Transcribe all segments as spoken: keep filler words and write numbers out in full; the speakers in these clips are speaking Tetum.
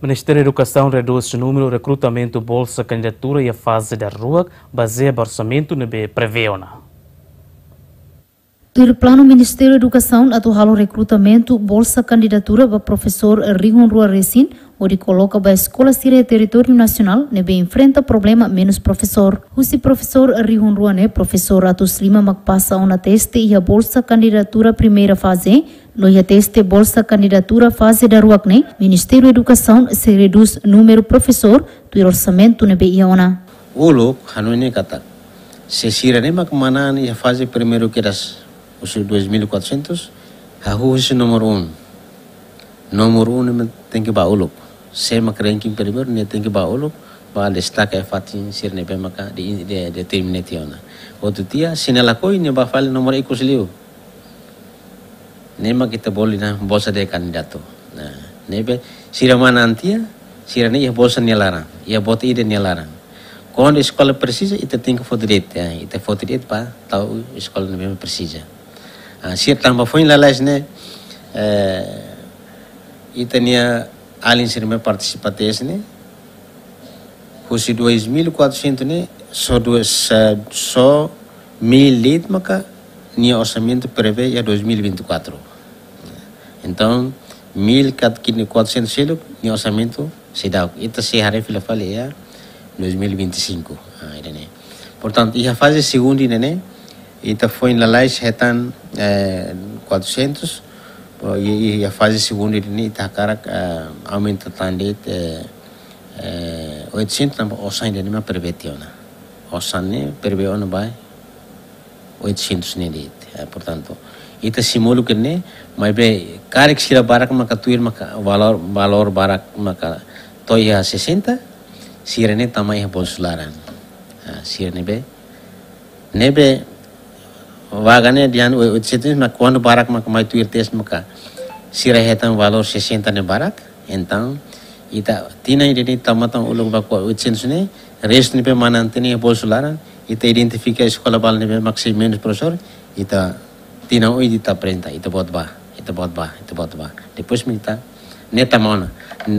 Ministériu Edukasaun redús númeru rekrutamentu bolsa kandidatura iha faze daruak, bazeia ba orsamentu ne'ebé prevee ona. Tuir planu, Ministériu Edukasaun atu halo rekrutamentu bolsa kandidatura ba profesór rihun rua resin, hodi koloka ba eskola sira iha territóriu nasionál ne'ebé enfrenta problema menus profesór. Husi profesór rihun rua ne'e, profesór atus lima mak pasa ona teste iha bolsa kandidatura primeira faze, no iha teste bolsa kandidatura faze daruak ne'e, Ministériu Edukasaun sei redús númeru profesór tuir orsamentu ne'ebé iha ona. Uluk, hanoin ne'e katak, se sira ne'e mak manán iha faze primeiru kedas husi dois mil e quatrocentos, hahú husi númeru um. Númeru um ne'e tenke ba uluk. Sé mak ranking primeiru ne'e tenke ba uluk, ba destaka iha fatin sira ne'ebé maka de, de, determina tiha ona. Outro dia, se nia lakohi, nia ba fali númeru ikus liu. Ne'e mak ita bolu dehan bolsa de kandidatu. Nah, ne'ebé sira manán tiha, sira ne'e iha bolsa nia laran, iha boot ida nia laran. Kuandu eskola presiza, ita tenke foti de'it, ya, ita foti de'it ba tau eskola ne'ebé presiza. Ah, sira tanba foin lalais ne'e, eh, ita-nia alin sira ne'ebé partisipa teste ne'e, husi dois mil e quatrocentos ne'e, só dua, só, só mil de'it maka nia orsamentu prevee iha dois mil e vinte e quatro. Entaun, mil e quatrocentos seluk, nia orsamentu seidauk. Ita sei haree fila fali iha dois mil e vinte e cinco. Ah, ida-ne'e. Portantu, iha faze segundu ida-ne'e, ita foin lalais hetan, eh, quatrocentos, oh, i, i, iha faze segundu ida-ne'e, ita hakarak, eh, aumenta tan de'it, eh, eh, oitocentos, tanba osan ida-ne'e mak prevee tiha ona. Osan ne'e prevee ona ba oitocentos ne'e de'it. Eh, portantu, ita simu uluk ne'e, maibé karik sira barak maka tuir maka valór, valór barak maka to'o iha sessenta, sira ne'e tama iha bolsu laran. Ah, sira ne'ebé, ne'ebé vaga ne'e dehan oitocentos, mas kuandu barak maka mai tuir teste maka sira hetan valór sessenta ne'e barak, entaun ita tinan ida-ne'e tama tan uluk ba oitocentos ne'e, restu ne'ebé manán tiha ona iha bolsu laran, ita identifika eskola balu ne'ebé mak sei menus profesór, ita tinan oin ita aprezenta, ita boot ba, ita boot ba, ita boot ba. Depois mak ita ne'e tama ona.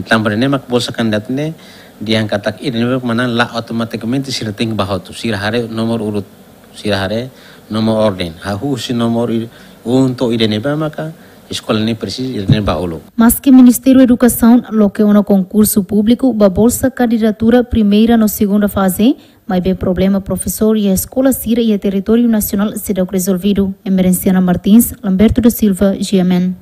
Tanba ne'e mak bolsa kandidatu ne'e dehan katak ida ne'ebé manán la automatikamente sira tenke ba hotu. Sira haree nomor urut, sira haree nomor orden. Hahú husi nomor i-, um to'o ida ne'ebé maka eskola ne'e presiza, ida ne'e ba uluk. Maski Ministériu Edukasaun loke ona konkursu públiku ba bolsa kandidatura primeira no segunda faze, maibé problema profesór iha eskola sira iha territóriu nasionál seidauk rezolvidu. Emerenciana Martins, Lamberto da Silva, G M N.